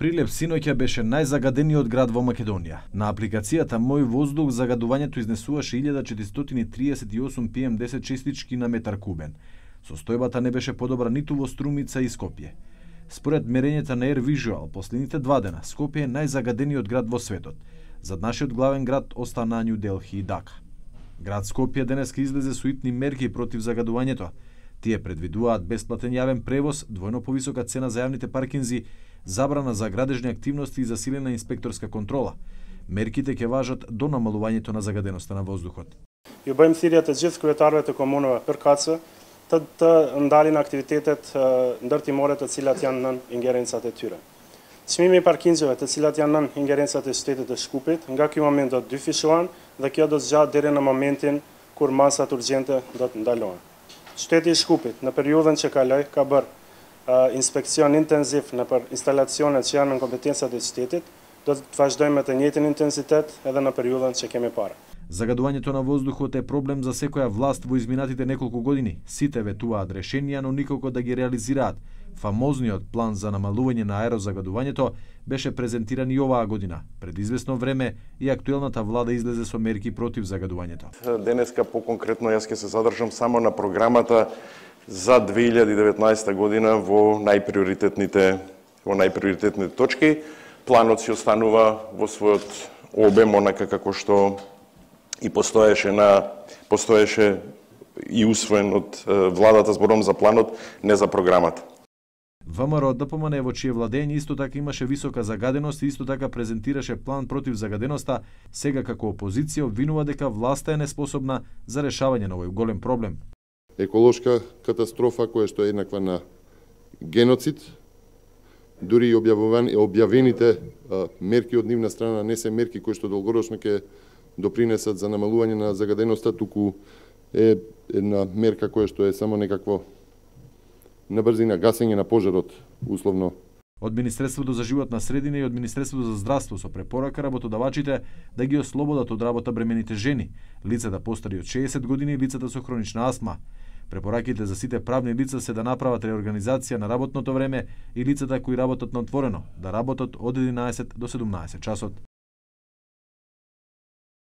Прилеп синоќа беше најзагадениот град во Македонија. На апликацијата Мој воздух загадувањето изнесуваше 1438 PM10 честички на метар кубен. Состојбата не беше подобра ниту во Струмица и Скопје. Според мерењата на Air Visual, последните 2 дена Скопје е најзагадениот град во светот. Зад нашиот главен град остана Њу Делхи и Дака. Град Скопје денеска излезе со итни мерки против загадувањето. Тие предвидуваат бесплатен јавен превоз, двојно повисока цена за јавните паркинзи, забрана за градежни активности и засилена инспекторска контрола. Мерките ќе важат до намалувањето на загаденоста на воздухот. Ju bëjmë thirrje të gjithë kryetarëve të komunave përkatëse të ndalin aktivitetet ndërtimore të cilat janë nën ingerencat e tyre. Çmimi I parkingëve të cilat janë nën ingerencat e shtetit të Shkupit, nga ky moment do të dyfishohen dhe kjo do të zgjat deri në momentin kur masat urgjente do të ndalohen. Shteti I Shkupit në periudhën që kaloi ka bërë inspekcion intenziv në për instalacionet që janë në kompetencat e shtetit, do të vazhdojmë me të njëjtin intensitet edhe në periudhën që kemi parë. Загадувањето на воздухот е проблем за секоја власт во изминатите неколку години. Сите ветуваат решенија, но никако да ги реализираат. Фамозниот план за намалување на аерозагадувањето беше презентиран и оваа година. Пред известно време и актуелната влада излезе со мерки против загадувањето. Денеска поконкретно јас ќе се задржам само на програмата за 2019 година во најприоритетните точки. Планот си останува во својот обем онака како што и постоеше и усвоен од владата, зборувам за планот, не за програмата. ВМРО ДПМН во чие владење исто така имаше висока загаденост и исто така презентираше план против загаденоста, сега како опозиција обвинува дека власта е неспособна за решавање на овој голем проблем. Еколошка катастрофа која што е еднаква на геноцид, дури и објавените мерки од нивна страна не се мерки кои што долгорочно ќе допринесат за намалување на загаденоста, туку е една мерка која што е само некакво на брзина гасење на пожарот, условно. Од Министерството за животна средина и од Министерството за здравство со препорака работодавачите да ги ослободат од работа бремените жени, лицата постари од 60 години и лицата со хронична астма. Препораките за сите правни лица се да направат реорганизација на работното време и лицата кои работат на отворено, да работат од 11 до 17 часот.